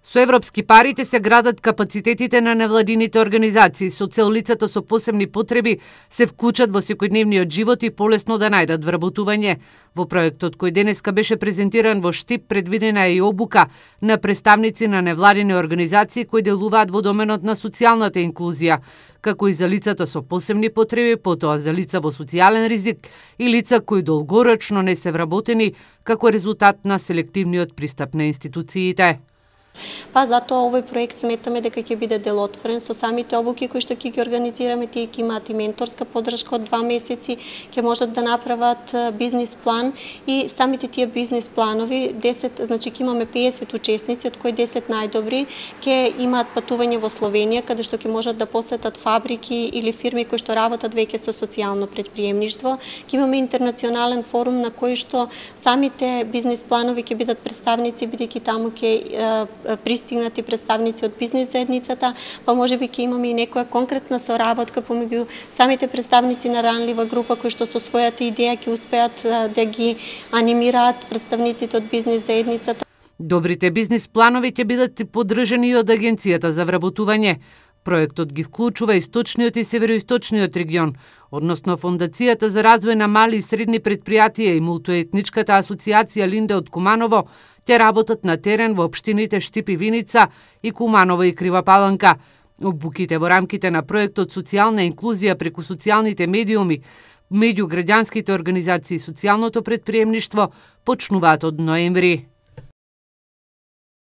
Со европски парите се градат капацитетите на невладините организации со цел лицата со посебни потреби се вклучат во секојдневниот живот и полесно да најдат вработување. Во проектот кој денеска беше презентиран во Штип предвидена е и обука на представници на невладини организации кои делуваат во доменот на социјалната инклузија, како и за лицата со посебни потреби, потоа за лица во социјален ризик и лица кои долгорочно не се вработени како резултат на селективниот пристап на институциите. Па затоа овој проект сметаме дека ќе биде делотворен со самите обуки кои што ќе ги организираме, тие ќе имаат и менторска поддршка од 2 месеци, ќе можат да направат бизнис план и самите тие бизнис планови 10, значи ќе имаме 50 учесници од кои 10 најдобри ќе имаат патување во Словенија каде што ќе можат да посетат фабрики или фирми кои што работат веќе со социјално претприемништво. Ќе имаме интернационален форум на кој што самите бизнис планови ќе бидат представници бидејќи таму ќе пристигнати представници од бизнес заедницата, па можеби ќе имаме и некоја конкретна соработка помеѓу самите представници на ранлива група кои што со својата идеја ќе успеат да ги анимираат представниците од бизнес заедницата. Добрите бизнис планови ќе бидат поддржани и од Агенцијата за вработување. Проектот ги вклучува источниот и североисточниот регион, односно Фондацијата за развој на мали и средни предпријатија и мултиетничката асоциација Линде од Куманово ќе работат на терен во општините Штип и Виница и Куманово и Крива Паланка. Обуките во рамките на проектот Социјална инклузија преку социјалните медиуми меѓу граѓанските организации и социјалното претприемништво почнуваат од ноември.